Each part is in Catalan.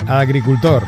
Agricultor.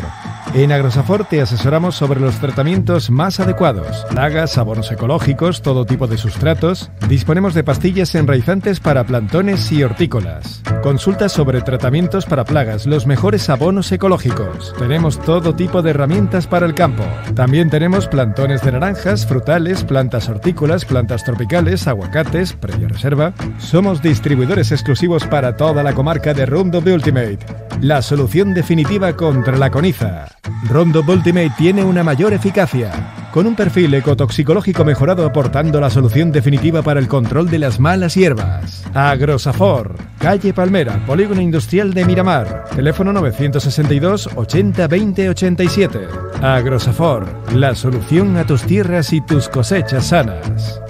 En Agrosafor te asesoramos sobre los tratamientos más adecuados, plagas, abonos ecológicos, todo tipo de sustratos. Disponemos de pastillas enraizantes para plantones y hortícolas. Consulta sobre tratamientos para plagas, los mejores abonos ecológicos. Tenemos todo tipo de herramientas para el campo. También tenemos plantones de naranjas, frutales, plantas hortícolas, plantas tropicales, aguacates, previa reserva. Somos distribuidores exclusivos para toda la comarca de Roundup Ultimate, la solución definitiva contra la coniza. Roundup Ultimate tiene una mayor eficacia, con un perfil ecotoxicológico mejorado aportando la solución definitiva para el control de las malas hierbas. Agrosafor, calle Palmera, Polígono Industrial de Miramar, teléfono 962 80 20 87. Agrosafor, la solución a tus tierras y tus cosechas sanas.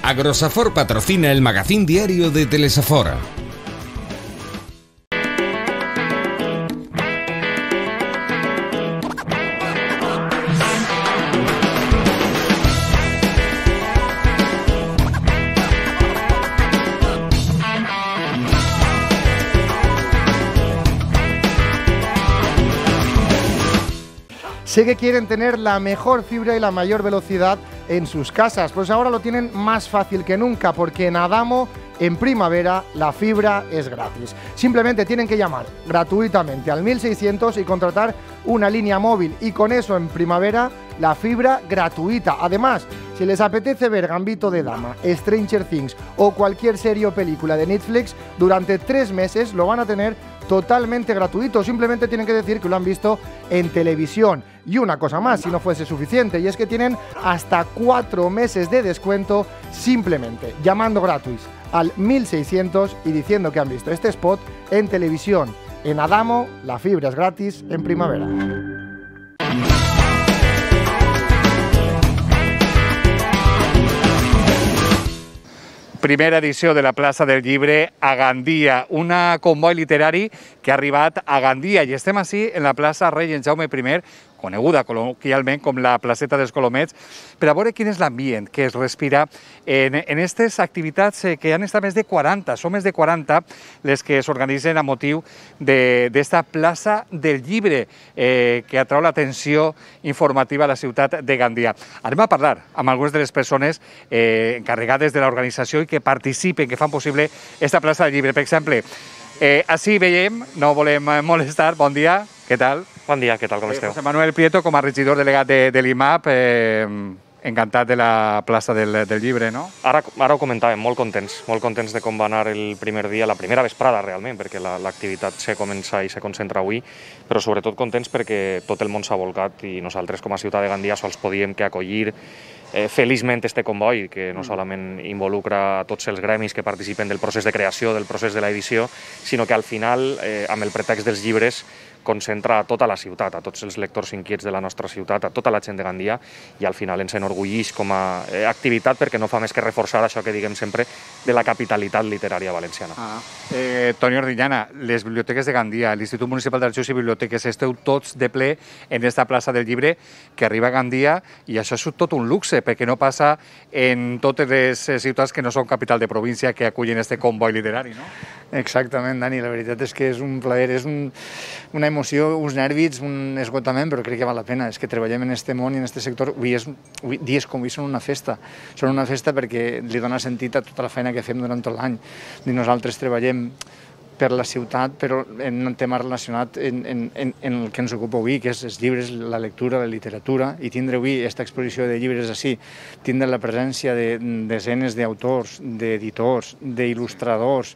Agrosafor patrocina el magazín diario de Telesafor. Sé que quieren tener la mejor fibra y la mayor velocidad en sus casas, pues ahora lo tienen más fácil que nunca, porque en Adamo, en primavera, la fibra es gratis. Simplemente tienen que llamar gratuitamente al 1600 y contratar una línea móvil, y con eso en primavera la fibra gratuita. Además, si les apetece ver Gambito de Dama, Stranger Things o cualquier serie o película de Netflix, durante 3 meses lo van a tener totalmente gratuito. Simplemente tienen que decir que lo han visto en televisión. Y una cosa más, si no fuese suficiente, y es que tienen hasta 4 meses de descuento simplemente llamando gratis al 1600 y diciendo que han visto este spot en televisión. En Adamo, la fibra es gratis en primavera. Primera edició de la plaça del Llibre a Gandia, un comboi literari que ha arribat a Gandia, i estem així en la plaça Rei Jaume I, coneguda col·loquialment com la placeta dels Colomets, per a veure quin és l'ambient que es respira en aquestes activitats que han estat més de 40, són més de 40 les que s'organitzen a motiu d'esta plaça del Llibre, que atrau l'atenció informativa a la ciutat de Gandia. Anem a parlar amb algunes de les persones encarregades de l'organització i que participen, que fan possible aquesta plaça del Llibre. Per exemple, així veiem, no volem molestar, bon dia, què tal? Bon dia, què tal, com esteu? José Manuel Prieto, com a regidor delegat de l'IMAP, encantat de la plaça del Llibre, no? Ara ho comentàvem, molt contents de com va anar el primer dia, la primera vesprada realment, perquè l'activitat se comença i se concentra avui, però sobretot contents perquè tot el món s'ha volcat i nosaltres com a ciutat de Gandia sols podíem que acollir feliçment este comboi, que no solament involucra a tots els gremis que participen del procés de creació, del procés de l'edició, sinó que al final, amb el pretext dels llibres, concentra a tota la ciutat, a tots els lectors inquiets de la nostra ciutat, a tota la gent de Gandia, i al final ens enorgulleix com a activitat perquè no fa més que reforçar això que diguem sempre de la capitalitat literària valenciana. Toni Ordillana, les biblioteques de Gandia, l'Institut Municipal d'Arxius i Biblioteques, esteu tots de ple en aquesta plaça del Llibre que arriba a Gandia, i això és tot un luxe, perquè no passa en totes les ciutats que no són capital de província que acullen este comboi literari, no? Exactament, Dani, la veritat és que és un plaer, és una emoció, uns nervis, un esgotament, però crec que val la pena. És que treballem en este món i en este sector, dies com avui són una festa. Són una festa perquè li dona sentit a tota la feina que fem durant tot l'any. Nosaltres treballem per la ciutat, però en un tema relacionat en el que ens ocupa avui, que és els llibres, la lectura, la literatura, i tindre avui aquesta exposició de llibres així, tindre la presència de desenes d'autors, d'editors, d'il·lustradors,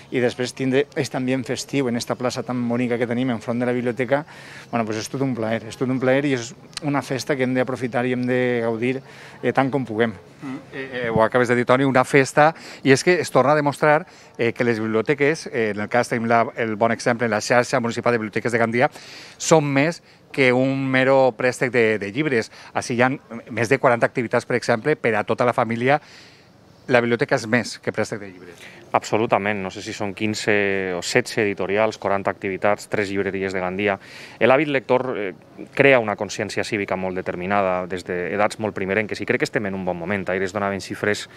i després tindre aquest ambient festiu en aquesta plaça tan bonica que tenim enfront de la biblioteca, bueno, pues és tot un plaer i és una festa que hem d'aprofitar i hem de gaudir tant com puguem. Ho acabes de dir, Toni, una festa, i és que es torna a demostrar que les biblioteques, en el cas tenim el bon exemple en la xarxa municipal de biblioteques de Gandia, són més que un mero préstec de llibres. Així hi ha més de 40 activitats, per exemple, per a tota la família. La biblioteca és més que préstec de llibres. Absolutament, no sé si són 15 o 16 editorials, 40 activitats, 3 llibreries de Gandia. L'hàbit lector crea una consciència cívica molt determinada des d'edats molt primerenques i crec que estem en un bon moment. Ahir es donaven xifres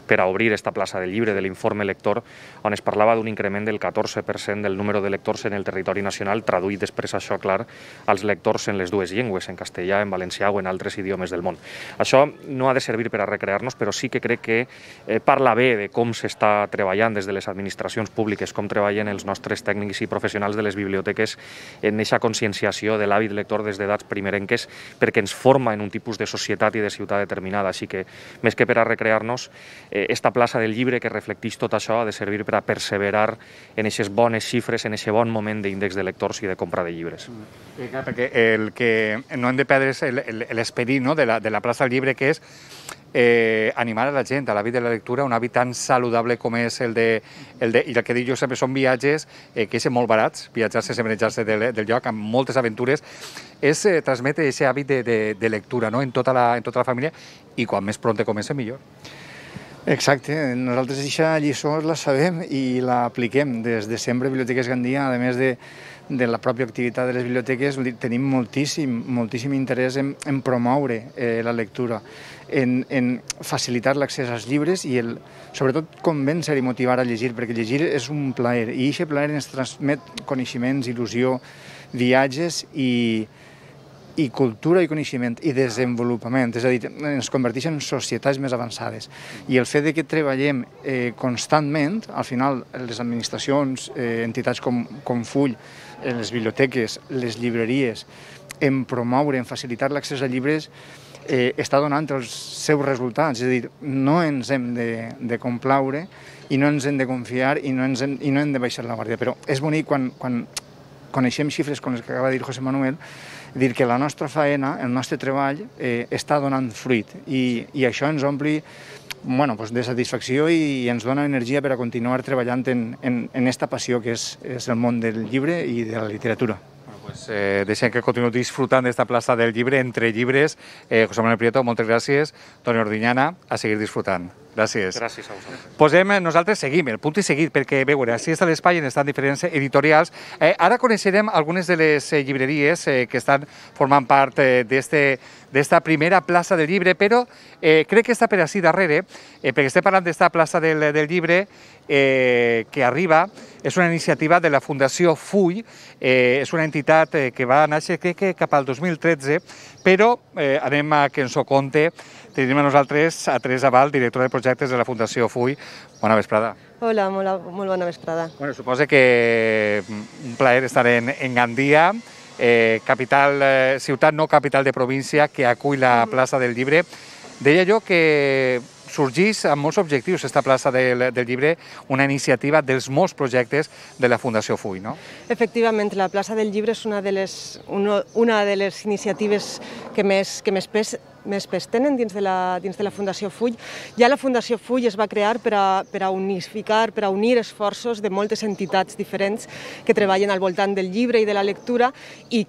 per a obrir esta plaça del llibre, de l'informe lector, on es parlava d'un increment del 14% del número de lectors en el territori nacional, traduït després això, clar, als lectors en les dues llengües, en castellà, en valencià o en altres idiomes del món. Això no ha de servir per a recrear-nos, però sí que crec que parla bé de com s'està treballant des de les administracions públiques, com treballen els nostres tècnics i professionals de les biblioteques en aquesta conscienciació de l'hàbit lector des d'edats primerenques, perquè ens forma en un tipus de societat i de ciutat determinada. Així que, més que per a recrear-nos, esta plaça del llibre que reflecteix tot això ha de servir per a perseverar en aquestes bones xifres, en aquest bon moment d'índex de lectors i de compra de llibres. Perquè el que no hem de perdre és l'esperit de la plaça del llibre, que és animar a la gent a l'hàbit de la lectura, un hàbit tan saludable com és i el que dic jo sempre són viatges que són molt barats, viatjar sense manejar-se del lloc, amb moltes aventures, és transmetre aquest hàbit de lectura en tota la família, i quan més pront comença millor. Exacte, nosaltres aquesta lliçó la sabem i l'apliquem des de sempre a Biblioteques Gandia. A més de la pròpia activitat de les biblioteques, tenim moltíssim interès en promoure la lectura, en facilitar l'accés als llibres i sobretot convèncer i motivar a llegir, perquè llegir és un plaer i aquest plaer ens transmet coneixements, il·lusió, viatges i cultura i coneixement i desenvolupament, és a dir, ens converteix en societats més avançades. I el fet que treballem constantment, al final les administracions, entitats com Full, les biblioteques, les llibreries, en promoure, en facilitar l'accés a llibres, està donant els seus resultats. És a dir, no ens hem de complaure i no ens hem de confiar i no hem de baixar la guàrdia. Però és bonic quan coneixem xifres com les que acaba de dir José Manuel, dir que la nostra faena, el nostre treball, està donant fruit i això ens ompli de satisfacció i ens dona energia per a continuar treballant en aquesta passió que és el món del llibre i de la literatura. Deixem que continuï disfrutant d'esta plaça del llibre, entre llibres. José Manuel Prieto, moltes gràcies. Toni Ordiñana, a seguir disfrutant. Gràcies. Gràcies a vosaltres. Nosaltres seguim, el punt i seguit, perquè veure, així està l'espai on estan diferents editorials. Ara coneixerem algunes de les llibreries que estan formant part d'esta primera plaça del llibre, però crec que està per així darrere, perquè estem parlant d'esta plaça del llibre que arriba, és una iniciativa de la Fundació Full, és una entitat que va néixer, crec que cap al 2013, però anem a que ens ho conte. Tenim a nosaltres a Teresa Val, directora de projectes de la Fundació Full. Bona vesprada. Hola, molt bona vesprada. Suposo que un plaer estar en Gandia, ciutat no capital de província, que acull la plaça del llibre. Deia jo que sorgeix amb molts objectius esta plaça del llibre, una iniciativa dels molts projectes de la Fundació Full, no? Efectivament, la plaça del llibre és una de les iniciatives que més pes tenen dins de la Fundació Full. Ja la Fundació Full es va crear per a unificar, per a unir esforços de moltes entitats diferents que treballen al voltant del llibre i de la lectura i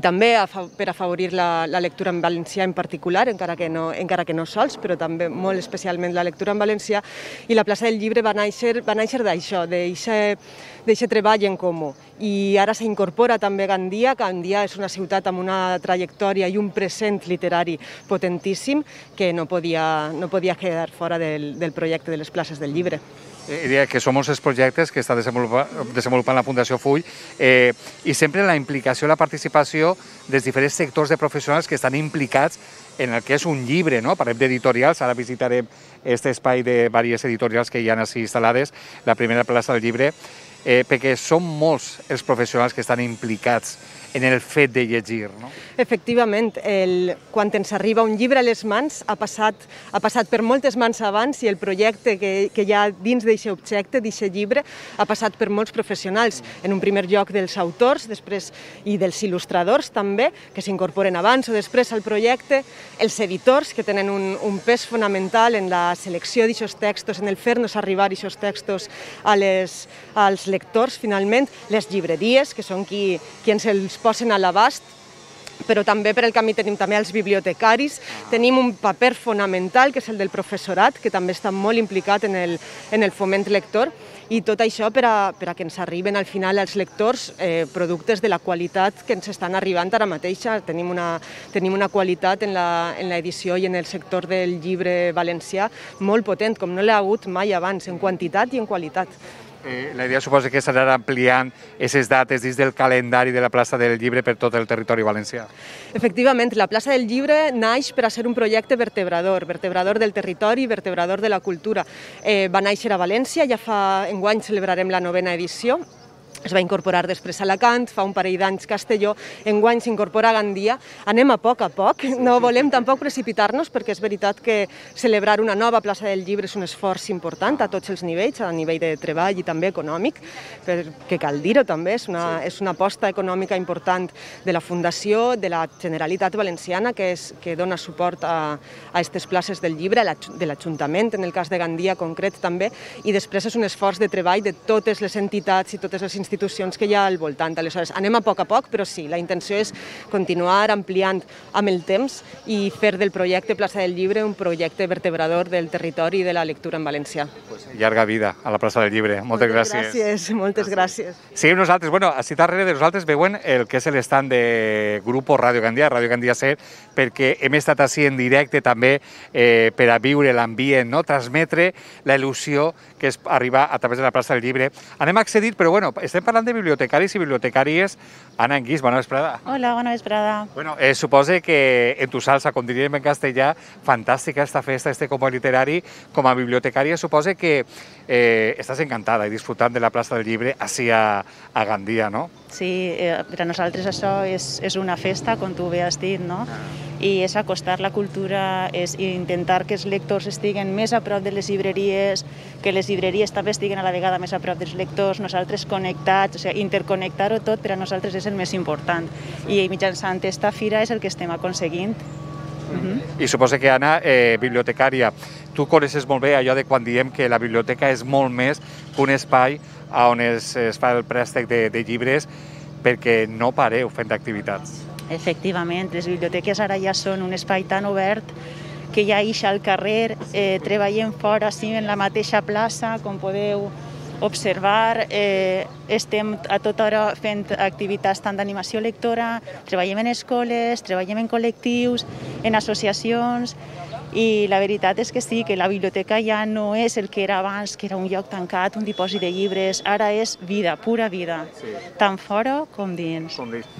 també per afavorir la lectura en valencià en particular, encara que no sols, però també molt especialment la lectura en valencià. I la plaça del llibre va néixer d'això, d'aquest treball en comú. I ara s'incorpora també Gandia. Gandia és una ciutat amb una trajectòria i un present literari potentíssim que no podia quedar fora del projecte de les places del llibre. Diria que són molts els projectes que està desenvolupant la Fundació Full i sempre la implicació i la participació dels diferents sectors de professionals que estan implicats en el que és un llibre, no? Parlem d'editorials, ara visitarem aquest espai de diverses editorials que hi ha així instal·lades, la primera plaça del llibre, perquè són molts els professionals que estan implicats en el fet de llegir, no? Efectivament, quan ens arriba un llibre a les mans ha passat per moltes mans abans i el projecte que hi ha dins d'aquest objecte, d'aquest llibre, ha passat per molts professionals. En un primer lloc dels autors, després i dels il·lustradors també, que s'incorporen abans o després al projecte, els editors, que tenen un pes fonamental en la selecció d'aquests textos, en el fer-nos arribar aquests textos als lectors, finalment, les llibreries, que són qui ens els posen a l'abast, però també per el camí tenim també els bibliotecaris, tenim un paper fonamental que és el del professorat, que també està molt implicat en el foment lector, i tot això per a que ens arriben al final als lectors productes de la qualitat que ens estan arribant ara mateix. Tenim una qualitat en l'edició i en el sector del llibre valencià molt potent, com no l'ha hagut mai abans, en quantitat i en qualitat. La idea suposa que s'anirà ampliant aquestes dates dins del calendari de la plaça del Llibre per tot el territori valencià. Efectivament, la plaça del Llibre naix per a ser un projecte vertebrador del territori, vertebrador de la cultura. Va néixer a València, enguany celebrarem la 9ª edició. Es va incorporar després a Alacant, fa un parell d'anys Castelló, enguany s'incorpora a Gandia. Anem a poc, no volem tampoc precipitar-nos, perquè és veritat que celebrar una nova plaça del Llibre és un esforç important a tots els nivells, a nivell de treball i també econòmic, perquè cal dir-ho també, és una aposta econòmica important de la Fundació, de la Generalitat Valenciana, que dona suport a aquestes places del llibre, de l'Ajuntament, en el cas de Gandia concret també, i després és un esforç de treball de totes les entitats i totes les institucions que hi ha al voltant. Aleshores, anem a poc, però sí, la intenció és continuar ampliant amb el temps i fer del projecte Plaça del Llibre un projecte vertebrador del territori i de la lectura en valencià. Llarga vida a la plaça del Llibre. Moltes gràcies. Moltes gràcies. Seguim nosaltres. Així darrere de nosaltres veuen el que és l'estand de Grupo Ràdio Gandia, Ràdio Gandia Ser, perquè hem estat així en directe també per a viure l'ambient, transmetre la il·lusió que és arribar a través de la plaça del Llibre. Anem a accedir, però estem parlant de bibliotecaris i bibliotecàries. Anna Anguís, bona vesprada. Hola, bona vesprada. Suposa que en tu salsa, com diríem en castellà, fantàstica esta festa, este convoi literari. Com a bibliotecària suposa que estàs encantada i disfrutant de la plaça del Llibre així a Gandia, no? Sí, per a nosaltres això és una festa, com tu bé has dit, no? I és acostar la cultura, és intentar que els lectors estiguen més a prop de les llibreries, que les llibreries també estiguen a la vegada més a prop dels lectors, nosaltres connectats, interconnectar-ho tot per a nosaltres és el més important. I mitjançant aquesta fira és el que estem aconseguint. I suposa que, Anna, bibliotecària, tu coneixes molt bé allò de quan diem que la biblioteca és molt més que un espai on es fa el préstec de llibres, perquè no pareu fent activitats. Efectivament, les biblioteques ara ja són un espai tan obert que ja ix al carrer, treballem fora, sí, en la mateixa plaça, com podeu observar, estem a tota hora fent activitats tant d'animació lectora, treballem en escoles, treballem en col·lectius, en associacions, i la veritat és que sí, que la biblioteca ja no és el que era abans, que era un lloc tancat, un dipòsit de llibres, ara és vida, pura vida, tant fora com dins.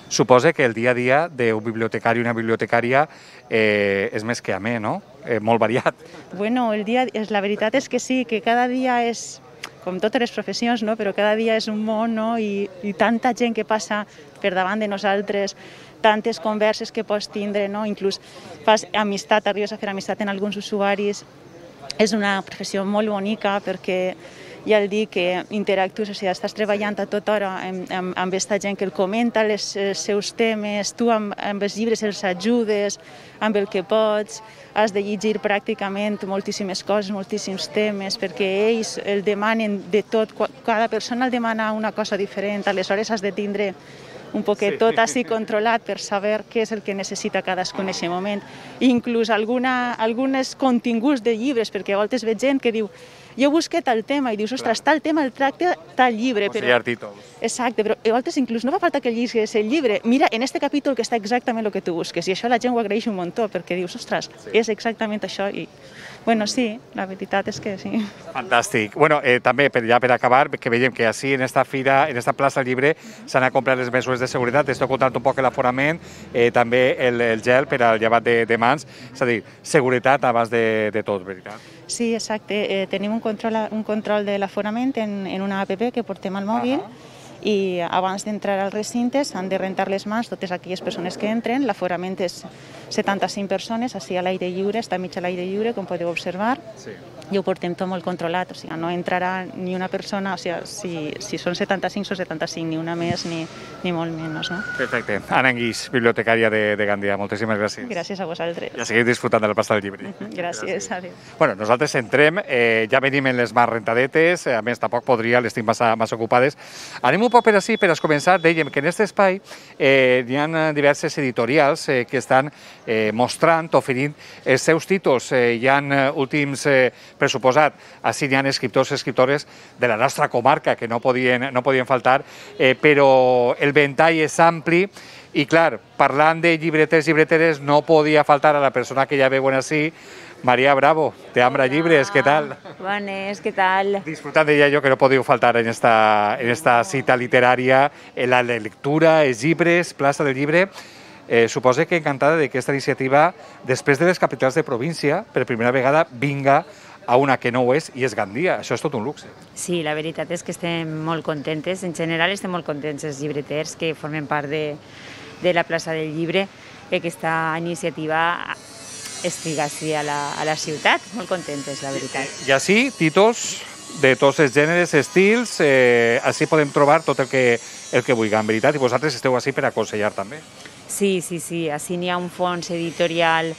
Suposa que el dia a dia d'un bibliotecari o una bibliotecària és més que amè, no? Molt variat. Bueno, la veritat és que sí, que cada dia és, com totes les professions, no? Però cada dia és un món, no? I tanta gent que passa per davant de nosaltres, tantes converses que pots tindre, no? Inclús fas amistat, arribes a fer amistat en alguns usuaris. És una professió molt bonica perquè ja el dic que interactues, estàs treballant a tota hora amb aquesta gent que el comenta els seus temes, tu amb els llibres els ajudes amb el que pots, has de llegir pràcticament moltíssimes coses, moltíssims temes, perquè ells el demanen de tot, cada persona el demana una cosa diferent, aleshores has de tindre un poquet tot així controlat per saber què és el que necessita cadascun en aquest moment. Inclús alguns continguts de llibres, perquè a voltes veig gent que diu jo busqué tal tema i dius, ostres, tal tema el tracta tal llibre. Exacte, però a voltes inclús no fa falta que lliguis el llibre. Mira, en este capítol que està exactament el que tu busques i això la gent ho agraeix un muntó perquè dius, ostres, és exactament això i bueno, sí, la veritat és que sí. Fantàstic. Bueno, també, ja per acabar, que veiem que així en esta fira, en esta plaça del Llibre, s'han complert les mesures de seguretat. Esteu contant un poc l'aforament, també el gel per al llevat de mans, és a dir, seguretat abans de tot, veritat? Sí, exacte. Tenim un control de l'aforament en una app que portem al mòbil i abans d'entrar al recinte s'han de rentar les mans totes aquelles persones que entren. L'aforament és 75 persones, així a l'aire lliure, està mig a l'aire lliure, com podeu observar. i ho portem tot molt controlat, o sigui, no entrarà ni una persona, o sigui, si són 75 són 75, ni una més ni molt menys, no? Perfecte. Anna Enguix, bibliotecària de Gandia, moltíssimes gràcies. Gràcies a vosaltres. Ja seguim disfrutant de la plaça del llibre. Gràcies, adéu. Bueno, nosaltres entrem, ja venim en les mans rentadetes, a més tampoc podria, les tinc massa ocupades. Anem un poc per així, per a començar, dèiem que en aquest espai hi ha diverses editorials que estan mostrant, oferint els seus títols. Hi ha últims, per suposat, així hi ha escriptors i escriptores de la nostra comarca que no podien faltar, però el ventall és ampli i, clar, parlant de llibreters i llibreteres, no podia faltar a la persona que ja veuen així, María Bravo, de Ambra Llibres, ¿qué tal? Bones, ¿qué tal? Disfrutant, deia jo, que no podeu faltar en esta cita literària, en la lectura, els llibres, plaça del llibre. Suposo que encantada de que aquesta iniciativa, després de les capitals de província, per primera vegada vinga a una que no ho és, i és Gandia. Això és tot un luxe. Sí, la veritat és que estem molt contentes. En general estem molt contents els llibreters que formen part de la plaça del llibre, que aquesta iniciativa estigui a la ciutat. Molt contentes, la veritat. I així, títols de tots els gèneres, estils, així podem trobar tot el que vulguem, veritat, i vosaltres esteu així per aconsellar també. Sí, així n'hi ha un fons editorial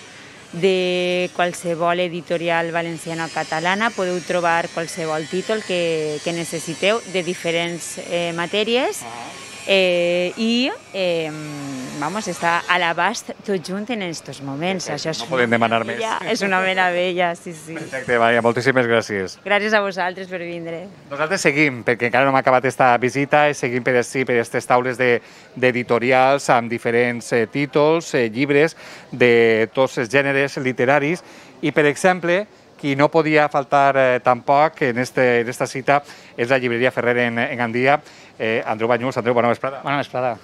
de qualsevol editorial valenciana o catalana. Podeu trobar qualsevol títol que necessiteu de diferents matèries i està a l'abast tot junt en aquests moments. No podem demanar més. És una meravella, sí. Perfecte, Maria, moltíssimes gràcies. Gràcies a vosaltres per vindre. Nosaltres seguim, perquè encara no hem acabat aquesta visita, i seguim per aquestes taules d'editorials amb diferents títols, llibres de tots els gèneres literaris, i, per exemple, qui no podia faltar tampoc en esta cita és la llibreria Ferrer en Gandia. Andreu Banyuls, Andreu, bona vesprada. Bona vesprada.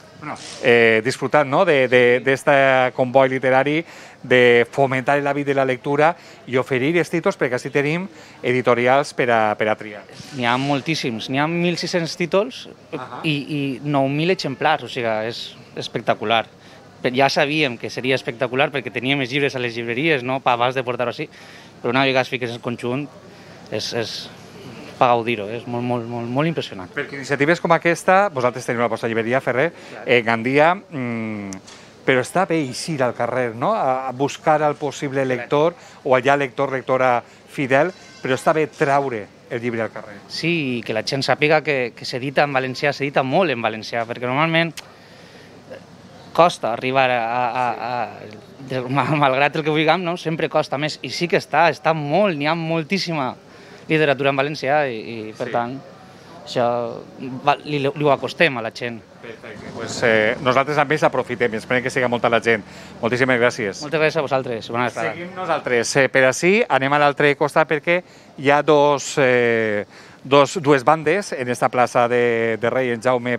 Disfrutant d'aquest comboi literari, de fomentar l'hàbit de la lectura i oferir els títols, perquè així tenim editorials per a triar. N'hi ha moltíssims, n'hi ha 1.600 títols i 9.000 exemplars, o sigui, és espectacular. Ja sabíem que seria espectacular perquè teníem els llibres a les llibreries, no? Abans de portar-ho així, però una vegada es fiques en conjunt és per gaudir-ho, és molt impressionant. Perquè iniciatives com aquesta, vosaltres teniu la vostra llibreria Ferrer, Gandia, però està bé eixir al carrer, no? A buscar el possible lector o allà lectora fidel, però està bé traure el llibre al carrer. Sí, i que la gent sàpiga que s'edita en valencià, s'edita molt en valencià, perquè normalment costa arribar malgrat el que vulguem, sempre costa més, i sí que està molt, n'hi ha moltíssima literatura en valencià i per tant, això li ho acostem a la gent. Perfecte, doncs nosaltres amb ells aprofitem i esperem que siga molta la gent. Moltíssimes gràcies. Moltes gràcies a vosaltres. Bona vesprada. Seguim nosaltres per així, anem a l'altre costat perquè hi ha dues bandes en esta plaça de Rei en Jaume I,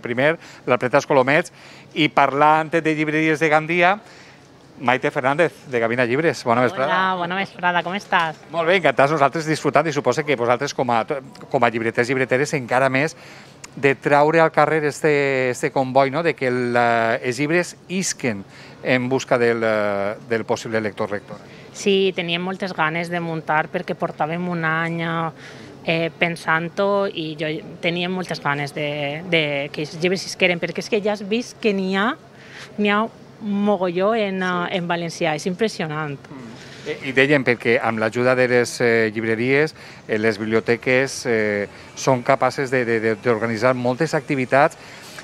la Pretas Colomets, i parlant de llibreries de Gandia, Maite Fernández, de Gavina Llibres. Bona vesprada. Hola, bona vesprada, com estàs? Molt bé, encantats nosaltres disfrutant, i suposo que vosaltres com a llibreters i llibreteres encara més de traure al carrer este comboi, de que els llibres isquen en busca del possible lector-lectora. Sí, teníem moltes ganes de muntar perquè portàvem un any pensant-ho i jo tenia moltes ganes de que els llibres isqueren, perquè és que ja has vist que n'hi ha mogolló en valencià, és impressionant. I dèiem perquè amb l'ajuda de les llibreries, les biblioteques són capaces d'organitzar moltes activitats,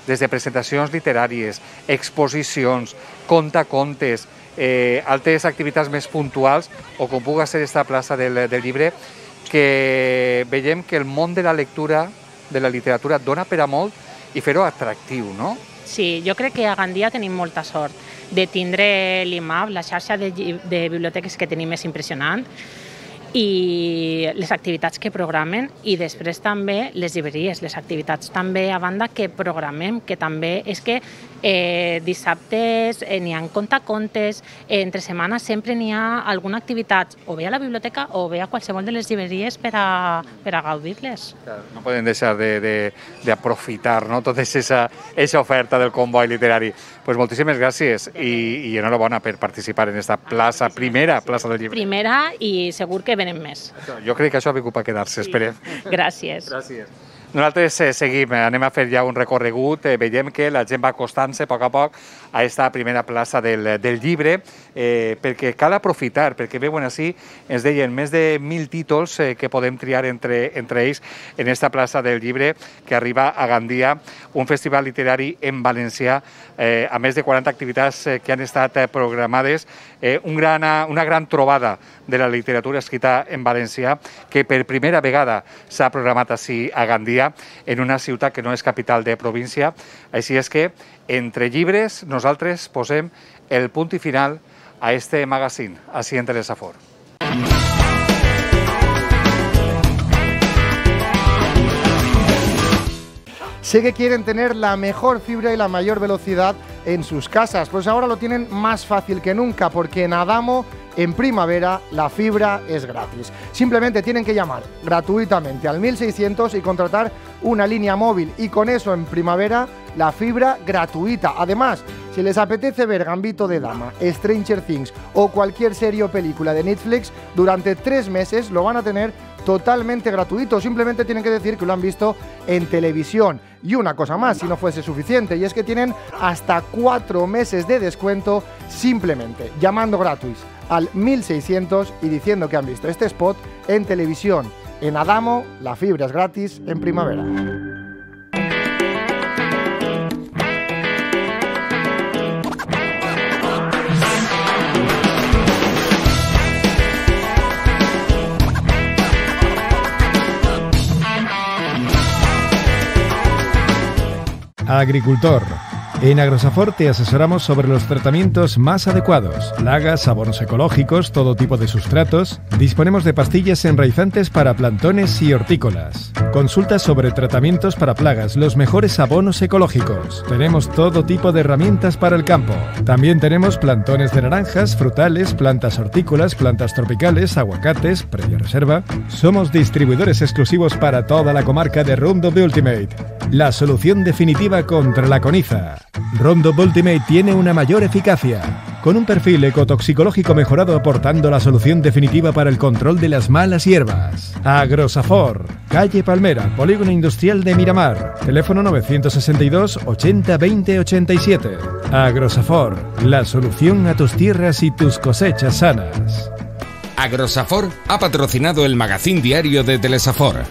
des de presentacions literàries, exposicions, contacontes, altres activitats més puntuals, o com pugui ser aquesta plaça del llibre, que veiem que el món de la lectura, de la literatura, dona per a molt i fer-ho atractiu, no? Sí, jo crec que a Gandia tenim molta sort de tindre l'IMAB, la xarxa de biblioteques que tenim és impressionant, i les activitats que programen, i després també les llibreries, les activitats també a banda que programem, que també és que Dissabtes n'hi ha contacontes, entre setmana sempre n'hi ha alguna activitat, o bé a la biblioteca o bé a qualsevol de les llibreries per a gaudir-les. No podem deixar d'aprofitar, no, tota aquesta oferta del comboi literari. Pues moltíssimes gràcies i enhorabona per participar en esta plaça, primera plaça del llibre. Primera i segur que venen més. Jo crec que això ha vingut per quedar-se, esperem. Gràcies. Nosaltres seguim, anem a fer ja un recorregut, veiem que la gent va acostant-se a poc a aquesta primera plaça del llibre, perquè cal aprofitar, perquè veuen així, ens deien, més de 1.000 títols que podem triar entre ells en aquesta plaça del llibre que arriba a Gandia, un festival literari en valencià, a més de 40 activitats que han estat programades, una gran trobada de la literatura escrita en valencià que per primera vegada s'ha programat així a Gandia, en una ciutat que no és capital de província. Així és que, entre llibres, nosaltres posem el punt i final a este magazín, així en Telesafor. Sé que quieren tener la mejor fibra y la mayor velocidad en sus casas, pues ahora lo tienen más fácil que nunca, porque en Adamo, en primavera, la fibra es gratis. Simplemente tienen que llamar gratuitamente al 1600 y contratar una línea móvil, y con eso en primavera la fibra gratuita. Además, si les apetece ver Gambito de Dama, Stranger Things o cualquier serie o película de Netflix, durante 3 meses lo van a tener totalmente gratuito. Simplemente tienen que decir que lo han visto en televisión. Y una cosa más, si no fuese suficiente, y es que tienen hasta 4 meses de descuento simplemente llamando gratis al 1600 y diciendo que han visto este spot en televisión. En Adamo, la fibra es gratis en primavera. Agricultor. En Agrosafor te asesoramos sobre los tratamientos más adecuados, plagas, abonos ecológicos, todo tipo de sustratos. Disponemos de pastillas enraizantes para plantones y hortícolas. Consultas sobre tratamientos para plagas, los mejores abonos ecológicos. Tenemos todo tipo de herramientas para el campo. También tenemos plantones de naranjas, frutales, plantas hortícolas, plantas tropicales, aguacates, previa reserva. Somos distribuidores exclusivos para toda la comarca de Roundup Ultimate, la solución definitiva contra la coniza. Roundup Ultimate tiene una mayor eficacia, con un perfil ecotoxicológico mejorado, aportando la solución definitiva para el control de las malas hierbas. Agrosafor, calle Palmera, Polígono Industrial de Miramar, teléfono 962 80 20 87. Agrosafor, la solución a tus tierras y tus cosechas sanas. Agrosafor ha patrocinado el magazín diario de Telesafor.